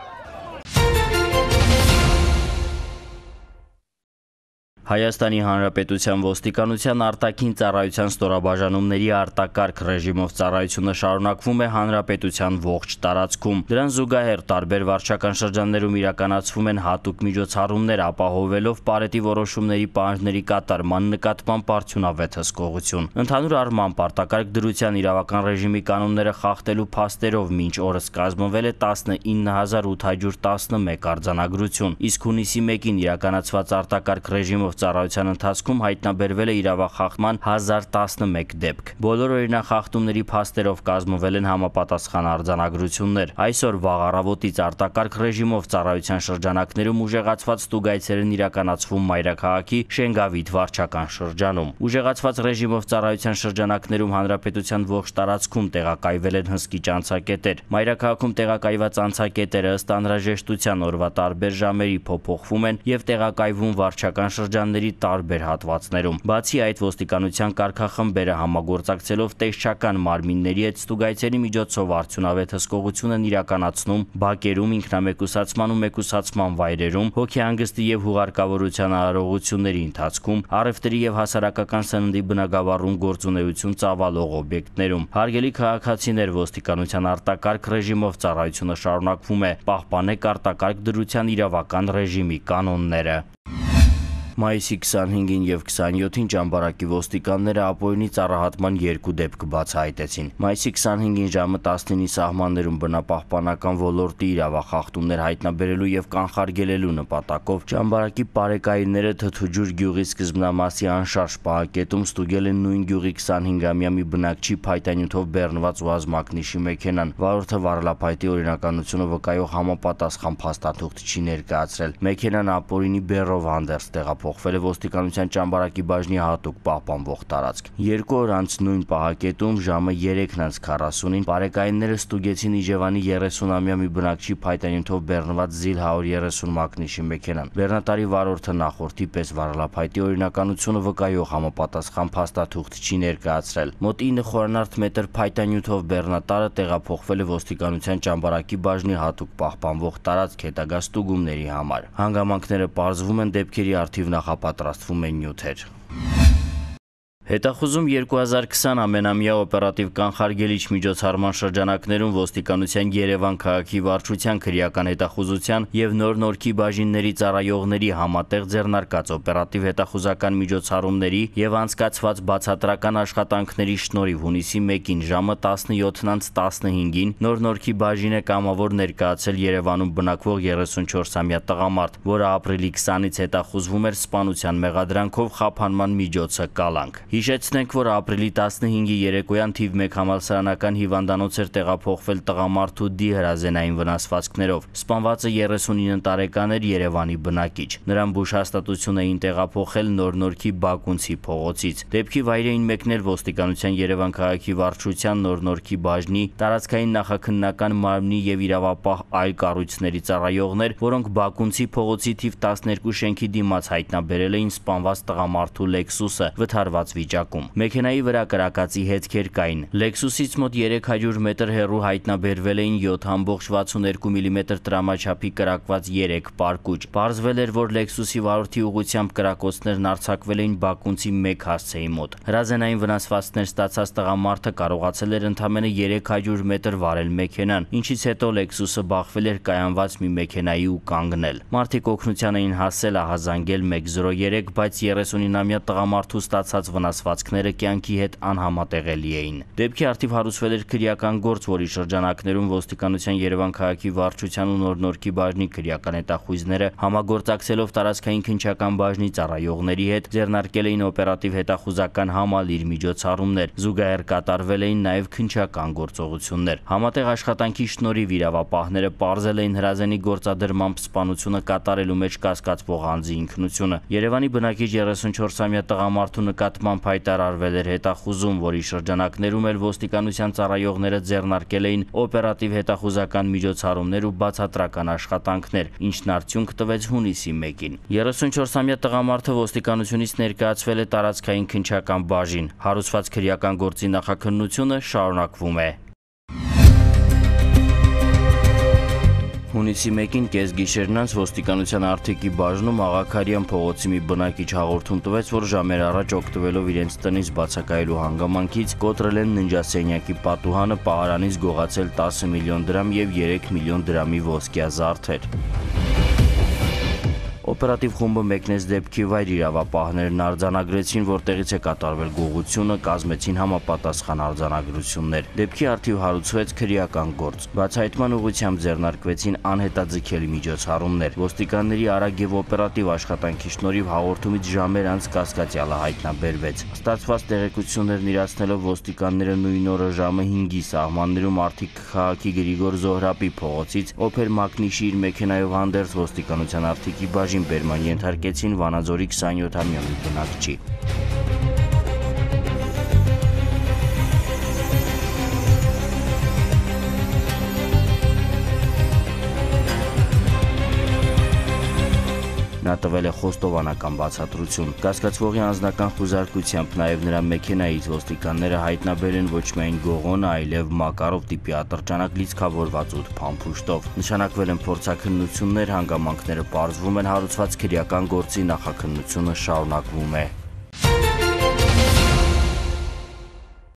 Հայաստանի Հանրապետության ոստիկանության արտաքին ծառայության ստորաբաժանումների արտակարգ ռեժիմով ծառայությունը շարունակվում է հանրապետության ողջ տարածքում։ Դրան զուգահեռ տարբեր վարչական շրջաններում իրականացվում են հատուկ միջոցառումներ, ապահովելով Պարետի որոշումների պահանջների կատարման նկատմամբ արդյունավետ հսկողություն։ Ընդհանուր առմամբ արտակարգ դրության իրավական ռեժիմի կանոնները խախտելու փաստերով մինչ օրս կազմվել է 19811 արձանագրություն, իսկ հունիսի 1-ին իրականացված արտակարգ ռեժիմով ծառայության ընթացքում հայտնաբերվել է իրավախախտման 1011 դեպք։ Բոլոր օրինախախտումների փաստերով կազմվել են համապատասխան արձանագրություններ։ Այսօր վաղ առավոտից արտակարգ ռեժիմով ծառայության շրջանակներում ուժեղացված ստուգայցեր են իրականացվում Մայրաքաղաքի Շենգավիթ վարչական շրջանում։ Ուժեղացված ռեժիմով ծառայության շրջանակներում հանրապետության ողջ տարածքում տեղակայվել են հսկիչ անցակետեր։ Մայրաքաղաքում տեղակայված անցակետերը ըստ անհրաժեշտության օրվա տարբեր ժամերի փոփոխվում են եւ տեղակայվում վարչական շրջանների տարբեր հատվածներում։ Բացի այդ, ոստիկանության կարգախմբերը համագործակցելով տեսչական մարմինների հետ ստուգայցերի միջոցով արդյունավետ հսկողություն են իրականացնում բակերում, ինքնամեկուսացման ու մեկուսացման վայրերում, հոգեհանգստի եւ հուղարկավորության արարողությունների ընթացքում, առևտրի եւ հասարակական սննդի բնագավառում գործունեություն ծավալող օբյեկտներում։ Հարգելի քաղաքացիներ, ոստիկանության արտակարգ ռեժիմով ծառայությունը շարունակվում է։ Պահպանեք արտակարգ դրության իրավական ռեժիմի կանոնները։ Մայիսի 25-ին եւ 27-ին ճամբարակի ոստիկանները ապօրինի ծառահատման 2 դեպք բացահայտեցին։ Մայիսի 25-ին ժամը 19-ի սահմաններում բնապահպանական ոլորտի իրավախախտումներ հայտնաբերելու եւ կանխարգելելու նպատակով ճամբարակի պարեկայինները Թթուջուր գյուղի սկզբնամասի անշարժ պահակետում ստուգել են նույն գյուղի 25-ամյա մի բնակչի փայտանյութով բեռնված ուազմակնիշի մեքենան։ Վարորդը վարելափայտի օրինականությունը վկայող համապատասխան փաստաթուղթ չի ներկայացրել։ Մեքենան ապօրինի բեռով հանդերձ տեղափոխվել է ոստիկանության ճամբարակի բաժնի հատուկ պահպանվող տարածք։ 2 օր անց նույն պահակետում ժամը 3:40-ին պարեկայինները ստուգեցին Իջևանի 30-ամյա մի բնակչի փայտանյութով բեռնված Զիլ 130 մակնիշի մեքենան։ Բեռնատարի վարորդը նախորդի պես վարելափայտի օրինականությունը վկայող համապատասխան փաստաթուղթ չի ներկայացրել։ Մոտ 9 խորանարդ մետր փայտանյութով բեռնատարը տեղափոխվել է ոստիկանության ճամբարակի բաժնի հատուկ պահպանվող տարածք հետագա ստուգումների համար։ Հանգամանքները պարզվում են, դեպքերի առթիվ նախապատրաստվում են նյութեր։ Հետախուզում 2020 ամենամյա օպերատիվ կանխարգելիչ միջոցառման շրջանակներում ոստիկանության Երևան քաղաքի վարչության քրեական հետախուզության եւ նոր-նորքի բաժինների ծառայողների համատեղ ձեռնարկած օպերատիվ հետախուզական միջոցառումների եւ անցկացված բացատրական աշխատանքների շնորհիվ հունիսի 1-ին ժամը 17:15-ին նոր-նորքի բաժինը կամավոր ներկայացել Երևանում բնակվող 34-ամյա տղամարդ, որը ապրիլի 20-ից հետախուզվում էր սպանության մեղադրանքով խափանման միջոցը կալանք։ Հիշեցնենք, որ ապրիլի 15-ի երեկոյան թիվ 1 համալսարանական հիվանդանոց էր տեղափոխվել տղամարդու դի հրազենային վնասվածքներով։ Սպանվածը 39 տարեկան էր, Երևանի բնակիչ։ Նրան բուժհաստատություն էին տեղափոխել Նոր-Նորքի Բակունցի փողոցից։ Դեպքի վայր էին մեկնել ոստիկանության Երևան քաղաքի վարչության Նոր-Նորքի բաժնի, տարածքային նախաքննական մարմնի եւ իրավապահ այլ կառույցների ծառայողներ, որոնք Բակունցի փողոցի թիվ 12 շենքի դիմաց հայտնաբերել էին սպանված տղամարդու Lexus-ը վթարված վիճակում։ Մեքենայի վրա կրակածի հետքեր կային։ Lexus-ից մոտ 300 մետր հեռու հայտնաբերվել էին 7.62 մմ տրամաչափի կրակված 3 պարկուճ։ Պարզվել էր, որ Lexus-ի վարորդի ուղղությամբ կրակոցներն արձակվել էին Բակունցի 1 հասցեի մոտ։ Հրազենային վնասվածքներ ստացած տղամարդը կարողացել էր ընդամենը 300 մետր վարել մեքենան, ինչից հետո Lexus-ը բախվել էր կայանված մի մեքենայի ու կանգնել։ Մարդիկ օգնության էին հասել ահազանգել 103, բայց 39-ամյա տղամարդու ստացած վնասվածքները կյանքի հետ անհամատեղելի էին։ Դեպքի առթիվ հարուցվել էր քրեական գործ, որի շրջանակներում ոստիկանության Երևան քաղաքի վարչության ու Նոր-Նորքի բաժնի քրեական հետախույզները համագործակցելով տարածքային քննչական բաժնի ծառայողների հետ ձեռնարկել էին օպերատիվ հետախուզական համալիր միջոցառումներ։ Զուգահեռ կատարվել էին նաև քննչական գործողություններ։ Համատեղ աշխատանքի շնորհիվ իրավապահները պարզել էին հրազենի գործադրմամբ սպանությունը կատարելու մեջ կասկածվող անձի ինքնությունը։ Երևանի բնակիչ 34-ամյա տղամարդու նկատմամբ ուղղությամբ հայտարարվել էր հետախուզում, որի շրջանակներում էլ ոստիկանության ծառայողները ձեռնարկել էին օպերատիվ հետախուզական միջոցառումներ ու բացատրական աշխատանքներ, ինչն արդյունք տվեց հունիսի 1-ին։ 34-ամյա տղամարդը ոստիկանությունից ներկայացվել է տարածքային քննչական բաժին։ Հարուցված քրեական գործի նախաքննությունը շարունակվում է։ Հունիսի 1-ին կեսգիշերն անց ոստիկանության Արթիկի բաժնում Աղաքարյան փողոցի մի բնակիչ հաղորդում տվեց, որ ժամեր առաջ օգտվելով իրենց տնից բացակայելու հանգամանքից կոտրել են ննջասենյակի պատուհանը, պահարանից գողացել 10 միլիոն դրամ եւ 3 միլիոն դրամի ոսկյա զարդեր։ Օպերատիվ խումբը մեկնեց դեպքի վայր, իրավապահներն արձանագրեցին, որտեղից է կատարվել գողությունը, կազմեցին համապատասխան արձանագրություններ։ Դեպքի առթիվ հարուցվեց քրեական գործ։ Բացահայտման ուղղությամբ ձեռնարկվեցին անհետաձգելի միջոցառումներ։ Ոստիկանների արագ եւ օպերատիվ աշխատանքի շնորհիվ հաղորդումից ժամեր անց կասկածյալը հայտնաբերվեց։ Ստացված տեղեկություններն իրացնելով ոստիկանները նույն օրը ժամը 5-ի սահմաններում Արթիկ քաղաքի Գրիգոր Զոհրաբի փողոցից օփեր Մակնիշի իր մեքենայով հանդերձ ոստիկանության Արթիկի բաժին բերման ենթարկեցին Վանաձորի 27-ամյա մի բնակչի։ Նա տվել է խոստովանական բացատրություն։ Կասկածվողի անձնական խուզարկությամբ նաև նրա մեքենայից ոստիկանները հայտնաբերել են ոչ միայն գողոնը, այլև Մակարով տիպի ատրճանակ լիցքավորված 8 փամփուշտով։ Նշանակվել են փորձաքննություններ, հանգամանքները պարզվում են, հարուցված քրեական գործի նախաքննությունը շարունակվում է։